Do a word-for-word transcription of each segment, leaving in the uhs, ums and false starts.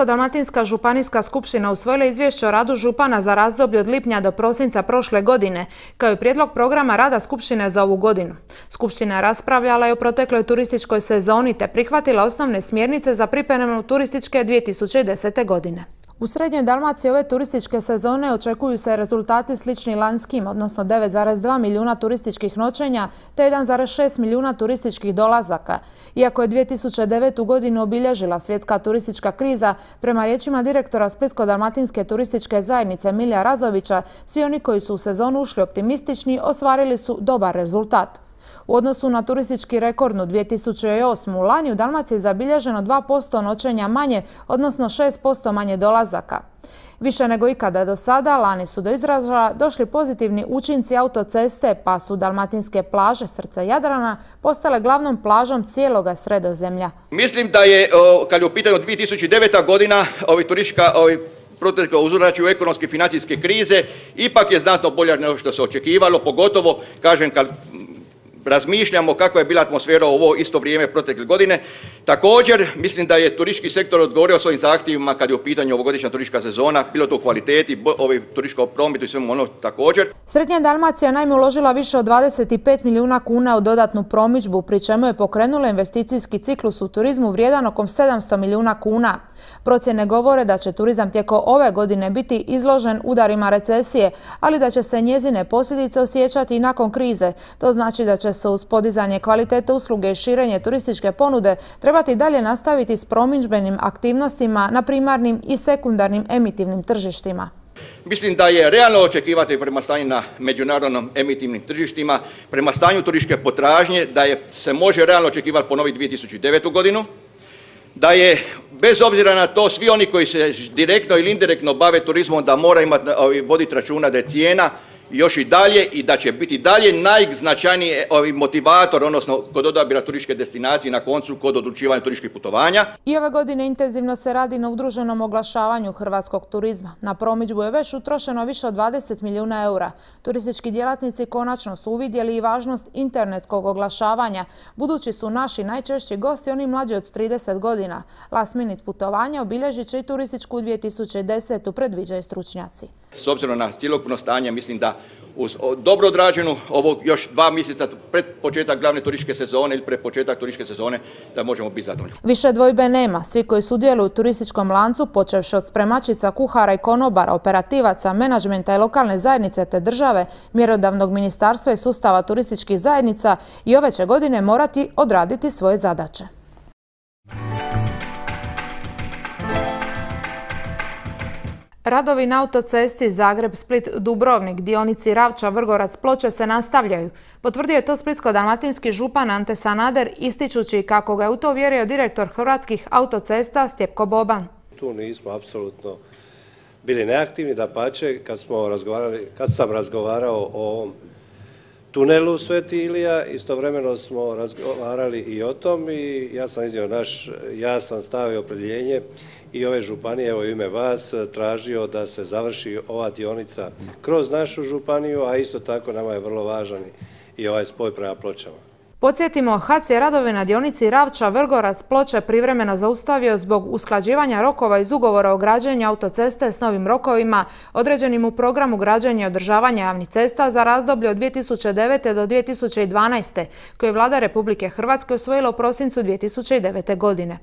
Splitsko-dalmatinska županijska skupština usvojila izvješće o radu župana za razdoblje od lipnja do prosinca prošle godine, kao i prijedlog programa rada skupštine za ovu godinu. Skupština je raspravljala i o protekloj turističkoj sezoni te prihvatila osnovne smjernice za pripremu turističke dvije tisuće desete. godine. U Srednjoj Dalmaciji ove turističke sezone očekuju se rezultati slični lanjskim, odnosno devet zarez dva milijuna turističkih noćenja te jedan zarez šest milijuna turističkih dolazaka. Iako je dvije tisuće devetu. godinu obilježila svjetska turistička kriza, prema riječima direktora Splitsko-dalmatinske turističke zajednice Milija Razovića, svi oni koji su u sezonu ušli optimistični ostvarili su dobar rezultat. U odnosu na turistički rekordnu dvije tisuće osmu. lani u Dalmaciji je zabilježeno dva posto noćenja manje, odnosno šest posto manje dolazaka. Više nego ikada do sada, lani su do izražaja došli pozitivni učinci autoceste, pa su dalmatinske plaže srca Jadrana postale glavnom plažom cijeloga Sredozemlja. Mislim da je, kad je u pitanju dvije tisuće deveta. godina, ovi turistička ovi protekla uzročju ekonomske i financijske krize, ipak je znatno bolja nego što se očekivalo, pogotovo, kažem, kad razmišljamo kakva je bila atmosfera u ovo isto vrijeme protekle godine. Također, mislim da je turistički sektor odgovorio svojim zahtjevima kad je u pitanju ovogodišnja turistička sezona, bilo to u kvaliteti, turističkom prometu i svemu ono također. Srednja Dalmacija naime uložila više od dvadeset pet milijuna kuna u dodatnu promidžbu, pri čemu je pokrenula investicijski ciklus u turizmu vrijedan oko sedamsto milijuna kuna. Procjene govore da će turizam tijekom ove godine biti izložen udarima recesije, ali da će se njezine posljedice osjećati i nakon krize. To znači da će se uz podizanje kvalitete usluge i širenje turističke ponude trebati dalje nastaviti s promidžbenim aktivnostima na primarnim i sekundarnim emitivnim tržištima. Mislim da je realno očekivati prema stanju na međunarodnom emitivnim tržištima, prema stanju turističke potražnje, da je, se može realno očekivati ponoviti dvije tisuće devetu. godinu, da je bez obzira na to svi oni koji se direktno ili indirektno bave turizmom da mora imati, voditi računa da je cijena još i dalje i da će biti dalje najznačajniji motivator, odnosno kod odabira turističke destinacije na koncu kod odlučivanja turističkih putovanja. I ove godine intenzivno se radi na udruženom oglašavanju hrvatskog turizma. Na promidžbu je već utrošeno više od dvadeset milijuna eura. Turistički djelatnici konačno su uvidjeli i važnost internetskog oglašavanja, budući su naši najčešći gosti oni mlađi od trideset godina. Last minute putovanja obilježit će i turističku dvije tisuće desetu. predviđaju stručnjaci. S obzirom na cjelokupno stanje, mislim da uz dobro odrađenu ovog još dva mjeseca pred početak glavne turističke sezone ili pred početak turističke sezone da možemo biti zadovoljni. Više dvojbe nema. Svi koji sudjeluju u turističkom lancu, počevši od spremačica, kuhara i konobara, operativaca, menadžmenta i lokalne zajednice te države, mjerodavnog ministarstva i sustava turističkih zajednica, i ove će godine morati odraditi svoje zadaće. Radovi na autocesti Zagreb-Split-Dubrovnik, dionici Ravča-Vrgorac-Ploče se nastavljaju. Potvrdio je to splitsko-dalmatinski župan Ante Sanader, ističući kako ga je u to uvjerio direktor Hrvatskih autocesta Stjepko Boban. Tu nismo apsolutno bili neaktivni, dapače, kad smo razgovarali, kad sam razgovarao o ovom tunelu Sveti Ilija, istovremeno smo razgovarali i o tom i ja sam iznio naš jasan stav i opredjeljenje i ove županije, evo u ime vas, tražio da se završi ova dionica kroz našu županiju, a isto tako nama je vrlo važan i ovaj spoj prema Pločama. Podsjetimo, H A C je radove na dionici Ravča-Vrgorac-Ploče privremeno zaustavio zbog usklađivanja rokova iz ugovora o građenju autoceste s novim rokovima određenim u programu građenja i održavanja javnih cesta za razdoblje od dvije tisuće devete. do dvije tisuće dvanaeste. koje je Vlada Republike Hrvatske usvojila u prosincu dvije tisuće devete. godine.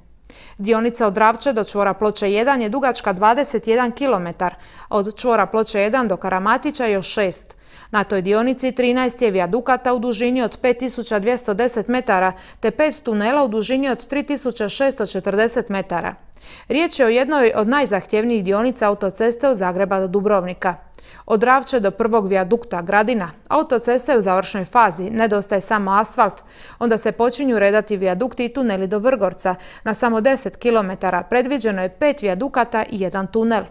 Dionica od Ravče do čvora Ploče jedan je dugačka dvadeset jedan kilometar, a od čvora Ploče jedan do Karamatića još šest. Na toj dionici trinaest je vijadukata u dužini od pet tisuća dvjesto deset metara te pet tunela u dužini od tri tisuće šesto četrdeset metara. Riječ je o jednoj od najzahtjevnijih dionica autoceste od Zagreba do Dubrovnika. Od Ravče do prvog vijadukta Gradina autocesta je u završnoj fazi, nedostaje samo asfalt. Onda se počinju redati vijadukti i tuneli do Vrgorca. Na samo deset kilometara predviđeno je pet vijadukata i jedan tunel.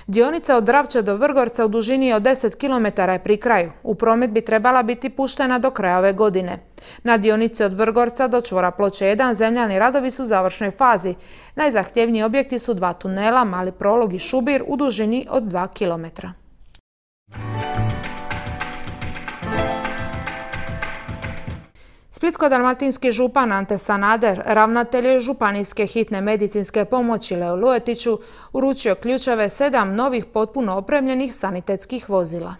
Dionica od Ravče do Vrgorca u dužini od deset kilometara je pri kraju. U promet bi trebala biti puštena do kraja ove godine. Na dionici od Vrgorca do čvora Ploče jedan zemljani radovi su u završnoj fazi. Najzahtjevniji objekti su dva tunela, mali prolog i šubir u dužini od dva kilometra. Splitsko-dalmatinski župan Ante Sanader, ravnatelj županijske hitne medicinske pomoći Leo Luetiću, uručio ključeve sedam novih potpuno opremljenih sanitetskih vozila.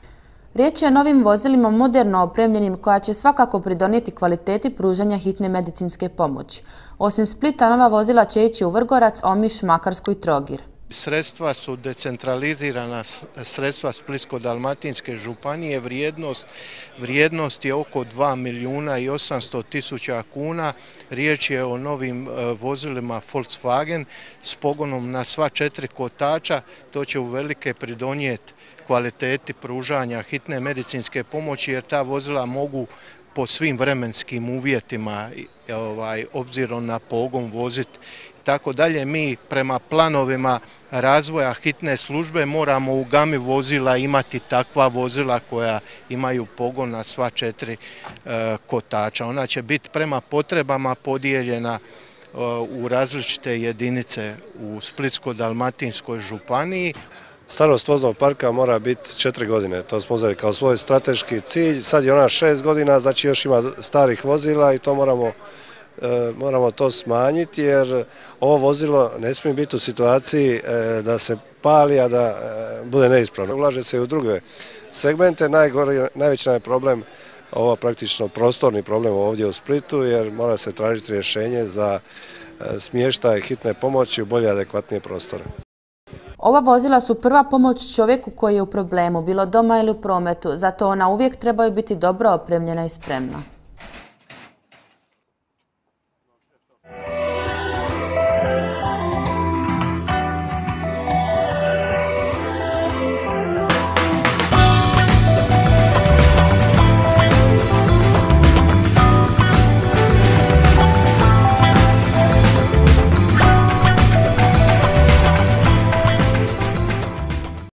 Riječ je o novim vozilima moderno opremljenim koja će svakako pridonijeti kvaliteti pružanja hitne medicinske pomoći. Osim Splita, nova vozila će ići u Vrgorac, Omiš, Makarsku i Trogir. Sredstva su decentralizirana sredstva Splitsko-dalmatinske županije, vrijednost, vrijednost je oko dva milijuna i osamsto tisuća kuna. Riječ je o novim vozilima Volkswagen s pogonom na sva četiri kotača. To će uvelike pridonijeti kvaliteti pružanja hitne medicinske pomoći jer ta vozila mogu po svim vremenskim uvjetima ovaj, obzirom na pogon voziti. Tako dalje, mi prema planovima razvoja hitne službe moramo u gami vozila imati takva vozila koja imaju pogon na sva četiri e, kotača. Ona će biti prema potrebama podijeljena e, u različite jedinice u Splitsko-dalmatinskoj županiji. Starost voznog parka mora biti četiri godine, to smo uzeli kao svoj strateški cilj. Sad je ona šest godina, znači još ima starih vozila i to moramo moramo to smanjiti jer ovo vozilo ne smije biti u situaciji da se pali, a da bude neispravno. Ulaže se i u druge segmente. Najveći je problem, ovo praktično prostorni problem ovdje u Splitu jer mora se tražiti rješenje za smještaj hitne pomoći u bolje adekvatnije prostore. Ova vozila su prva pomoć čovjeku koji je u problemu, bilo doma ili u prometu, zato ona uvijek trebaju biti dobro opremljena i spremna.